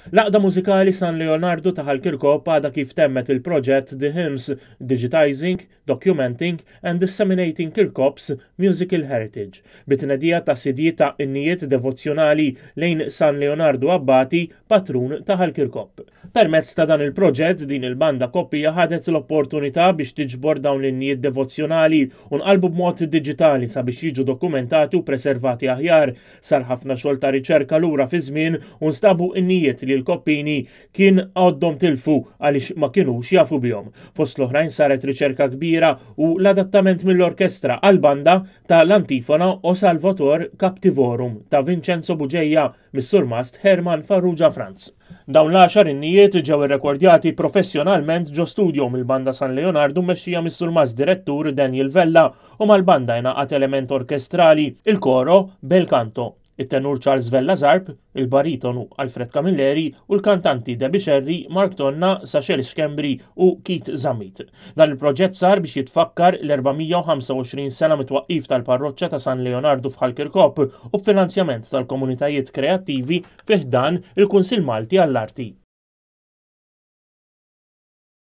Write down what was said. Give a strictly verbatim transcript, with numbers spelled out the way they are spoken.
L-Għaqda Mużikali San Leonardo ta' Ħal Kirkop għadha kif temmet il-proġett The Hymns, Digitizing, Documenting and Disseminating Kirkop's Musical Heritage, bit-tnedija ta' C D ta' innijiet devozzjonali lejn San Leonardo Abbati, patrun ta' Ħal Kirkop. Permezz ta' dan il-proġett, din il-banda koppija ħadet l-opportunità biex tiġbor dawn l-innijiet devozzjonali u nqalbu b'mod digitali sabiex jiġu dokumentati u preservati aħjar. Sar ħafna xogħol ta' riċerka lura fi żmien u nstabu innijiet li l-Koppini kien għoddhom tilfu għaliex ma kinux jafu bihom. Fost l-oħrajn saret riċerka kbira u l-adattament mill-orkestra għal-banda ta' l-antifona O Salvator Captivorum ta' Vincenzo Bugeja mis-surmast Herman Farrugia Franz. Dawn l-għaxar innijiet ġew irrekordjati professjonalment ġo studio mill-banda San Leonardo mmexxija mis-surmast direttur Daniel Vella, u mal-banda jingħaqad element orkestrali, il-koro Bel Canto, it-tenur Charles Vella Zarb, il-baritonu Alfred Camilleri u l-kantanti Debbie Sherry, Mark Tonna, Sachel Schembri u Keith Zammit. Dan il-proġett sar biex jitfakkar l-erba' mija u ħamsa u għoxrin sena mit-twaqqif tal-parroċċa ta' San Leonardo f'Ħal Kirkop u b'finanzjament tal-komunitajiet kreattivi fi ħdan il-Kunsil Malti għall-Arti.